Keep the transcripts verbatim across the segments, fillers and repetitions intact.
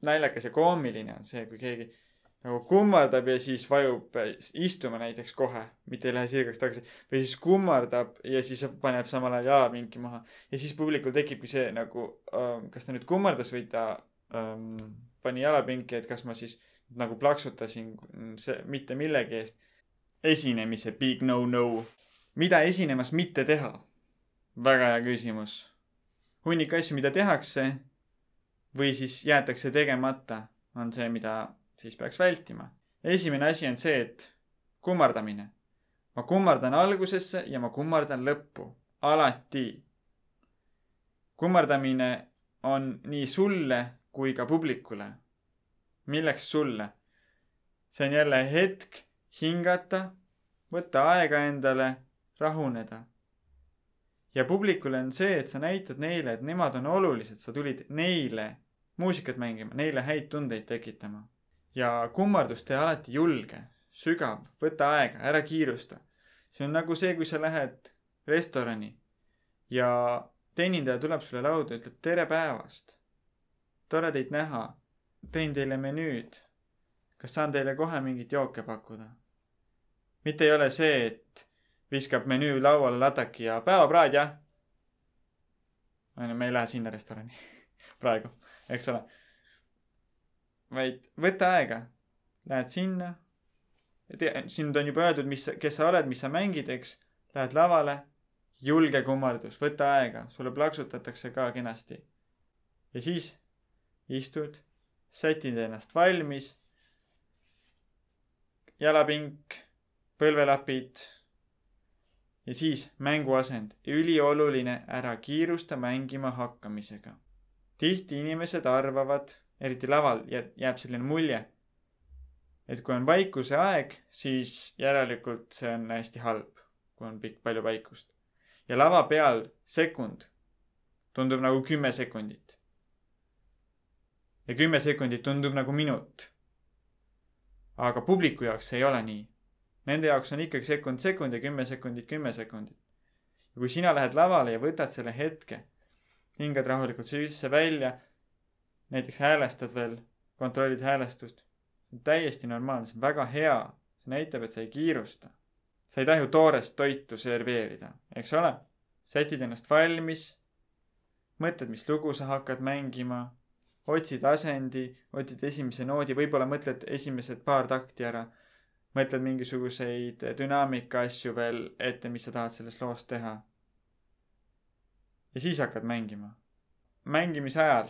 naljakas ja koomiline on see, kui keegi nagu kummardab ja siis vajub istuma näiteks kohe, mitte ei lähe sirgeks tagasi. Või siis kummardab ja siis paneb samal ajal jalapinki maha. Ja siis publikul tekibki see nagu, ähm, kas ta nüüd kummardas või ta ähm, pani jalapinki, et kas ma siis nagu plaksutasin see, mitte millegi eest. Esinemise big no-no. Mida esinemas mitte teha? Väga hea küsimus. Hunnik asju, mida tehakse või siis jäetakse tegemata, on see, mida siis peaks vältima. Esimene asi on see, et kummardamine. Ma kummardan algusesse ja ma kummardan lõppu. Alati. Kummardamine on nii sulle kui ka publikule. Milleks sulle? See on jälle hetk hingata, võtta aega endale, rahuneda. Ja publikule on see, et sa näitad neile, et nemad on olulised. Sa tulid neile muusikat mängima, neile häid tundeid tekitama. Ja kummardus tee alati julge, sügav, võta aega, ära kiirusta. See on nagu see, kui sa lähed restorani ja teenindaja tuleb sulle lauda ja ütleb tere päevast. Tore teid näha. Tein teile menüüd. Kas saan teile kohe mingit jooke pakkuda? Mitte ei ole see, et viskab menüü lauale lataki ja päevapraad, jah? Me ei lähe sinna restorani praegu, eks ole. Vaid võta aega, lähed sinna, sind on juba öeldud, mis, kes sa oled, mis sa mängid, eks, lähed lavale, julge kummardus, võta aega, sulle plaksutatakse ka kenasti. Ja siis istud, sätid ennast valmis, jalapink, põlvelapid ja siis mänguasend. Ülioluline ära kiirusta mängima hakkamisega. Tihti inimesed arvavad, eriti laval jääb selline mulje, et kui on vaikuse aeg, siis järelikult see on hästi halb, kui on pikk palju vaikust. Ja lava peal sekund tundub nagu kümme sekundit. Ja kümme sekundit tundub nagu minut. Aga publiku jaoks see ei ole nii. Nende jaoks on ikkagi sekund sekund ja kümme sekundit kümme sekundit. Ja kui sina lähed lavale ja võtad selle hetke, hingad rahulikult sisse välja, näiteks häälestad veel, kontrollid häälestust. See on täiesti normaalne, see on väga hea. See näitab, et sa ei kiirusta. Sa ei taha ju toorest toitu serveerida, eks ole? Sätid ennast valmis, mõtled, mis lugu sa hakkad mängima, otsid asendi, otsid esimese noodi, võib-olla mõtled esimesed paar takti ära, mõtled mingisuguseid dünaamika asju veel ette, mis sa tahad sellest loost teha. Ja siis hakkad mängima. Mängimise ajal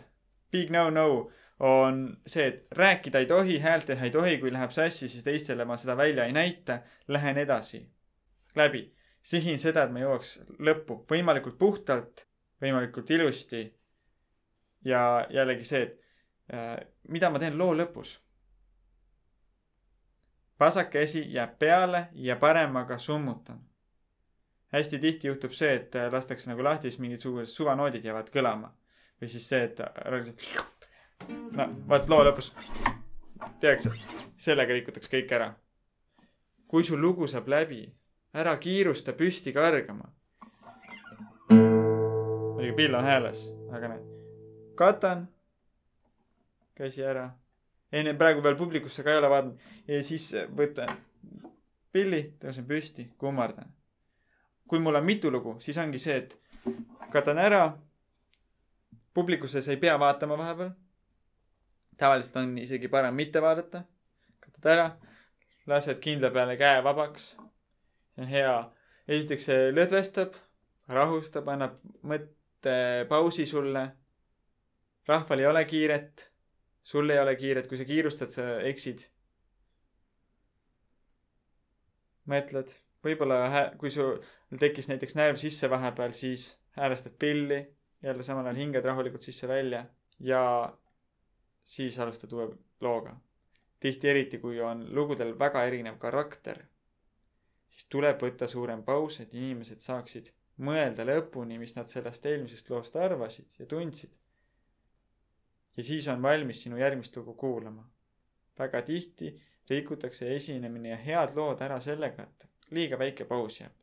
big no-no on see, et rääkida ei tohi, häält teha ei tohi, kui läheb sassi, siis teistele ma seda välja ei näita, lähen edasi. Läbi. Sihin seda, et ma jõuaks lõppu. Võimalikult puhtalt, võimalikult ilusti. Ja jällegi see, et äh, mida ma teen loo lõpus. Vasak käsi jääb peale ja paremaga summutan. Hästi tihti juhtub see, et lastakse nagu lahti, siis mingid suvanoodid jäävad kõlama. Või siis see, et no, vaat loo lõpus teaks, sellega rikutakse kõik ära. Kui sul lugu saab läbi, ära kiirusta püsti kargama. Muidugi pill on hääles, aga näed. Katan, käsi ära. Enne praegu veel publikusse ka ei ole vaadanud. Ja siis võtan pilli, tõusen püsti, kummardan. Kui mul on mitu lugu, siis ongi see, et katan ära. Publikuses ei pea vaatama vahepeal. Tavaliselt on isegi parem mitte vaadata. Katad ära, lased kindla peale käe vabaks. See on hea. Esiteks see lõdvestab, rahustab, annab mõtte pausi sulle. Rahval ei ole kiiret. Sul ei ole kiiret. Kui sa kiirustad, sa eksid. Mõtled. Võib-olla kui sul tekkis näiteks närv sisse vahepeal, siis häälestad pilli. Jälle samal ajal hingad rahulikult sisse välja ja siis alustad uue looga. Tihti eriti, kui on lugudel väga erinev karakter, siis tuleb võtta suurem paus, et inimesed saaksid mõelda lõpuni, mis nad sellest eelmisest loost arvasid ja tundsid. Ja siis on valmis sinu järgmist lugu kuulama. Väga tihti rikutakse esinemine ja head lood ära sellega, et liiga väike paus jääb.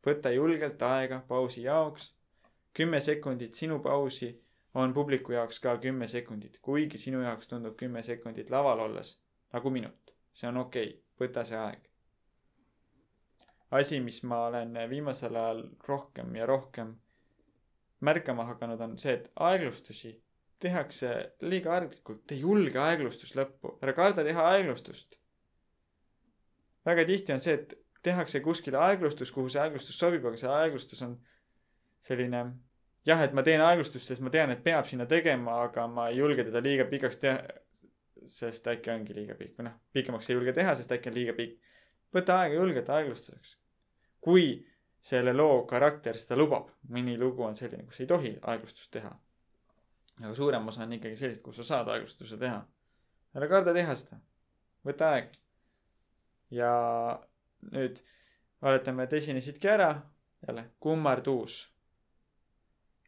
Võta julgelt aega pausi jaoks. Kümme sekundit sinu pausi on publiku jaoks ka kümme sekundit, kuigi sinu jaoks tundub kümme sekundit laval olles nagu minut. See on okei, okay. Võta see aeg. Asi, mis ma olen viimasel ajal rohkem ja rohkem märkama hakanud, on see, et aeglustusi tehakse liiga arglikult. Te julge aeglustust lõppu. Ära karda teha aeglustust. Väga tihti on see, et tehakse kuskile aeglustus, kuhu see aeglustus sobib, aga see aeglustus on selline, jah, et ma teen aeglustust, sest ma tean, et peab sinna tegema, aga ma ei julge teda liiga pikaks teha, sest äkki ongi liiga pikk. Või noh, pikemaks ei julge teha, sest äkki on liiga pikk. Võta aega julgelt aeglustuseks. Kui selle loo karakter seda lubab, mõni lugu on selline, kus ei tohi aeglustust teha. Aga suurem osa on ikkagi sellist, kus sa saad aeglustuse teha. Ära karda teha seda. Võta aeg. Ja nüüd valetame, et esinesidki ära. Jälle, kummarduus.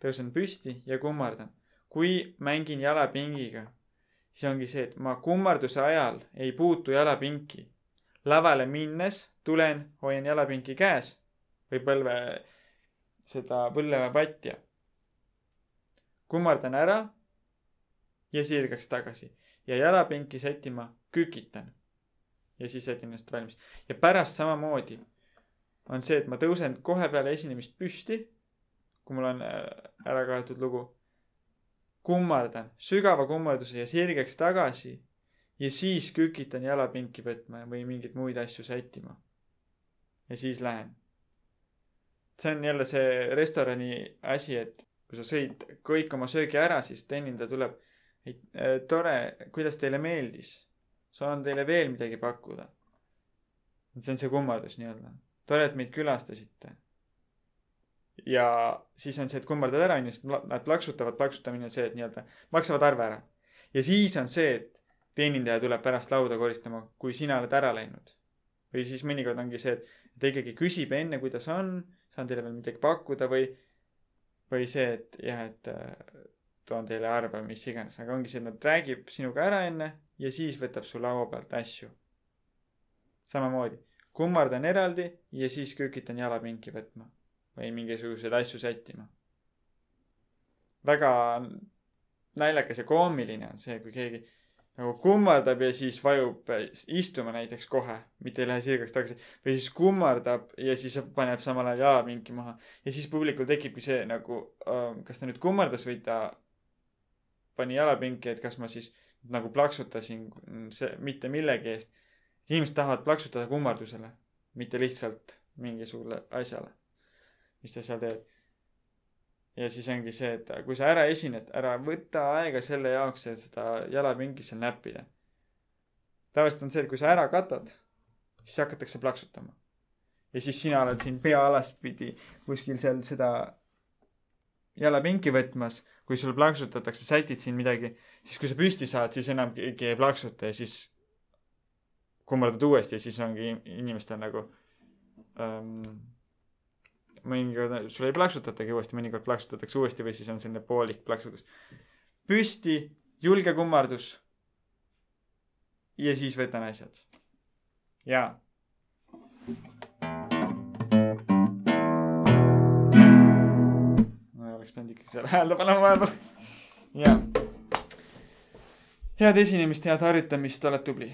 Tõusen püsti ja kummardan. Kui mängin jalapingiga, siis ongi see, et ma kummarduse ajal ei puutu jalapinki. Lavale minnes tulen, hoian jalapinki käes või põlve seda põlve patja. Kummardan ära ja sirgaks tagasi. Ja jalapinki sätima kükitan. Ja siis sätin ennast valmis. Ja pärast samamoodi on see, et ma tõusen kohe peale esinemist püsti, kui mul on ära kaetud lugu. Kummardan sügava kummarduse ja sirgeks tagasi ja siis kükitan jalapinki võtma või mingid muid asju sättima. Ja siis lähen. See on jälle see restorani asi, et kui sa sõid kõik oma söögi ära, siis teeninda tuleb, et tore, kuidas teile meeldis. Saan teile veel midagi pakkuda. See on see kummardus nii-öelda. Tore, et meid külastasite. Ja siis on see, et kummardad ära, nad plaksutavad, plaksutamine on see, et nii-öelda maksavad arve ära. Ja siis on see, et teenindaja tuleb pärast lauda koristama, kui sina oled ära läinud. Või siis mõnikord ongi see, et ta ikkagi küsib enne, kuidas on, saan teile veel midagi pakkuda või, või see, et jah, et toon teile arve, mis iganes. Aga ongi see, et nad räägib sinuga ära enne ja siis võtab su laua pealt asju. Samamoodi. Kummardan eraldi ja siis kükitan jalapinki võtma. Või mingisugused asju sättima. Väga naljakas ja koomiline on see, kui keegi nagu kummardab ja siis vajub istuma näiteks kohe, mitte ei lähe sirgaks tagasi. Või siis kummardab ja siis paneb samal ajal jalapinki maha. Ja siis publikul tekibki see nagu, kas ta nüüd kummardas või ta pani jalapinki, et kas ma siis nagu plaksutasin see, mitte millegi eest. Inimesed tahavad plaksutada kummardusele, mitte lihtsalt mingisugule asjale, mis sa seal teed. Ja siis ongi see, et kui sa ära esined, ära võta aega selle jaoks, et seda jalapinki seal näppida. Tavaliselt on see, et kui sa ära katad, siis hakatakse plaksutama. Ja siis sina oled siin pea alaspidi kuskil seal seda jalapinki võtmas. Kui sul plaksutatakse, sätid siin midagi, siis kui sa püsti saad, siis enam keegi ei plaksuta ja siis kummardad uuesti ja siis ongi inimestel nagu um, mõnikord sul ei plaksutatagi uuesti, mõnikord plaksutatakse uuesti või siis on selline poolik plaksutus. Püsti, julge kummardus ja siis võtan asjad. Jaa. Ma oleks pidanud ikkagi seal häälda panema vahepeal. Jaa. Head esinemist, head harjutamist, oled tubli.